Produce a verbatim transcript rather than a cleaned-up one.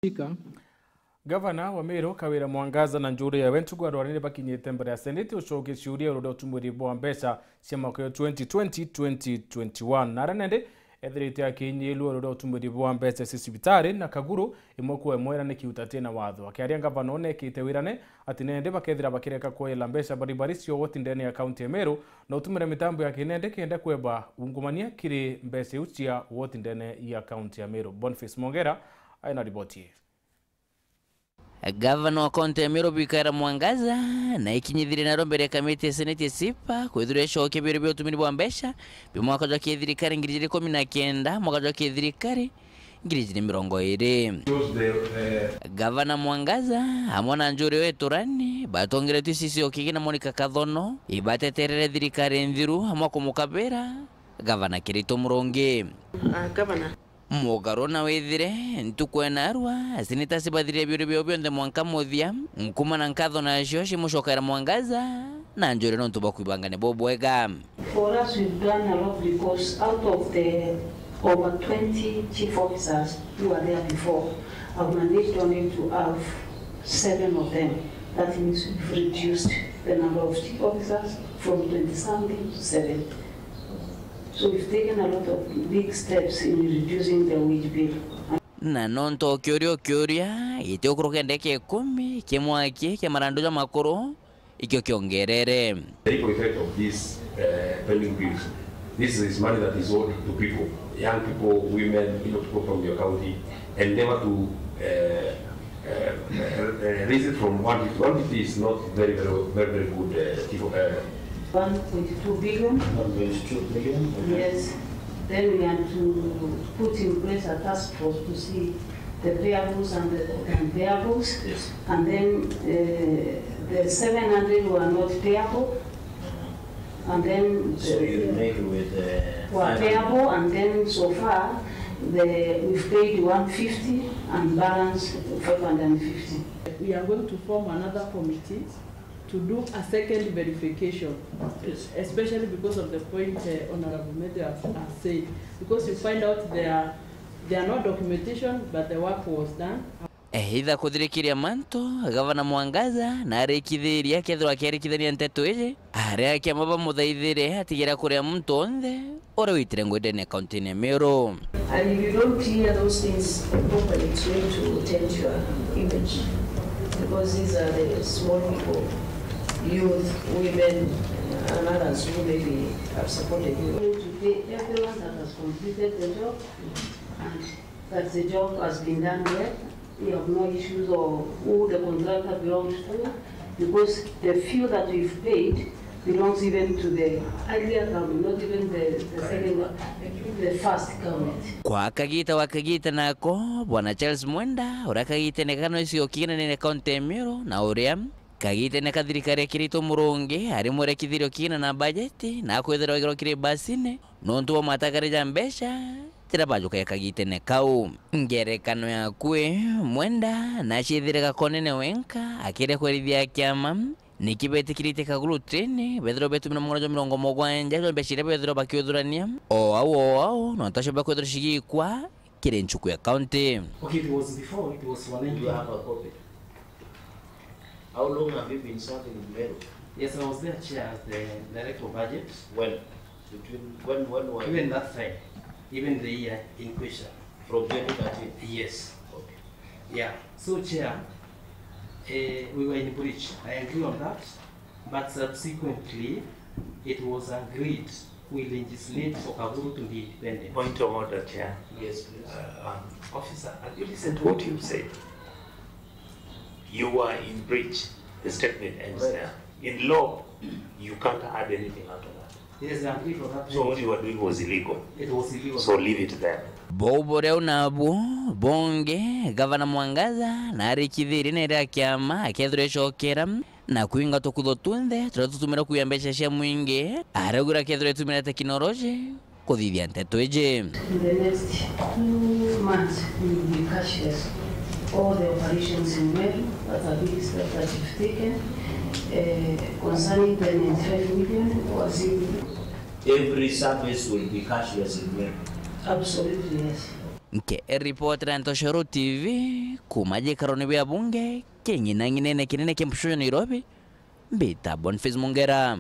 Speaker. Gavana wa Meru, Kawira Mwangaza, na njuri yawe ntuku ya rwari ni bakinyite mbere ya Seneti ucokia ciuria iguru ria utumiri bwa mbeca cia mwaka wa twenty twenty, twenty twenty-one. Na aria nende ethirite akinyirua iguru ria utumiri bwa mbeca cia cibitari na Kaguru imwe kwa imwe iria ni kiuta tina watho. Akiaria, gavana onekite wirane ati nende bakethira bakireka kueela mbeca baribari cia woti ndene ya kaunti ya Meru na utumira mitambo ya kinende kenda kweba ungumania kiri mbeca iu cia woti ndene ya kaunti ya Meru. Boniface Mongera aina riboti ii. Gavana wa kaunti ya Meru, Kawira Mwangaza, na ikinyithirie naro mbere ya kamiti ya Seneti ya SIPA kwithirwa icokia biuria bia utumiri bwa mbeca bia mwaka jwa kithirikari ngiri ijiri ikumi na kenda, mwaka jwa kithirikari ngiri ijiri mirongo iri. Gavana Mwangaza amwe na njuri o iturani batongeretue icicio kigina Monica Kathono ibateterere thirikari nthiru amwe kumukabira gavana Kiraitu Murungi. Ah, gavana. Mugaro na withire ntuku enarua, seneta cibathirire biuria biao bionthe mwanka muthia, nkuma na nkatho nacio cimucokera Mwangaza na njuri nontu bwa kwibangania bubwega. For us, we've done a lot because out of the over twenty chief officers who were there before, I've managed only to have seven of them. That means we've reduced the number of chief officers from twenty something to seven. So we've taken a lot of big steps in reducing the wage bill. Na nontu o kiuria o kiuria gitigukuruka ndagika ikumi, kimwe kia marandu ja makuru ikio kiongerere. The ripple effect of these, uh, pending bills. This is money that is owed to people, young people, women, you know, people from your county, and never to, uh, uh, uh, raise it from one fifty. One fifty is not very, very, very, very good, uh, people, uh, one point two billion. One point two billion, okay. Yes. Then we had to put in place a task force to see the payables and the, and payables. Yes. And then, uh, the seven hundred were not payable. And then, so you remain with, uh, were payable, and then so far, the, we've paid one fifty and balance five hundred and fifty. We are going to form another committee to do a second verification, yes, especially because of the point, uh, Honorable Mete has, has said, because you find out there, there are no documentation, but the work was done. Eitha kuthirikiria mantu, Gavana Mwangaza na arikithirie akethirwa akiarikithania nteto iji, aria akiama bamuthaithire atigera kuria muntu onthe uria witire ngui ndene kaunti-ini ya Meru. And if you don't clear those things properly, it's going to taint your image, because these are the small people, youth, women, and others who maybe have supported you. To pay everyone that has completed the job and that the job has been done well. We have no issues of who the contractor belongs to, because the few that we've paid belongs even to the earlier government, not even the, the second, the first government. Kwa kagita wa kagita nako, Bwana Charles Mwenda, uria kagitene kano icio kinene kaunti ya Meru, na uria kagitene ka thirikari ya Kiraitu Murungi, ari mwerekithirio kina na bajeti, na akwithirwa igiro kiri basine, nontu bwa matagare ja mbeca, tira bajukaga kagitene kau. Ngerekano yaku ii, Mwenda naciethire gakonene wenka, akiria kwerithia kiama, niki betikiritie Kaguru Train, bethirwa betumira mugwanja jwa mirongo mugwanja jwa mbeca iria bethirwa bakiuthurania, o au o au, nontu acio bakwithirwa cigikwa kiri nchuku ya county. Okay, it was before, it was wananchi. You have a copy. How long have you been serving in Meru? Yes, I was there, Chair, as the director of budget. When? Between when, when were you? Even that time, even the year in question. From twenty thirteen? Yes. Okay. Yeah. So, Chair, eh, we were in breach. I agree on that. But subsequently, it was agreed we legislate for Kaguru to be independent. Point of order, Chair. Yes, please. Uh, um, officer, have you listened to what you said? You were in breach. The statement ends there. In law, you can't add anything out of that. Yes, I agree for that. So what you were doing was illegal. It was illegal. So leave it there. Bou buria u nabu bungi, Gavana Mwangaza narikithirie nere a kiama akethirwa icokera na kwinga tukutho tunthe turia tutumirwa kuiya mbeca cia mwingi, araugire akethirwa itumira teknoloji kuthithia nteto iji. In the next two months, we will be cashless. All the operations in Meru, that's a big step that we've taken. Eh, concerning the ninety-five million was in. Every service will be cashless in Meru. Absolutely, yes. Nke report ya Ntoshoro T V Kuma gikarone bia bunge king'inang'inene kinene kia mpucu ya Nairobi, mbita Boniface Mongera.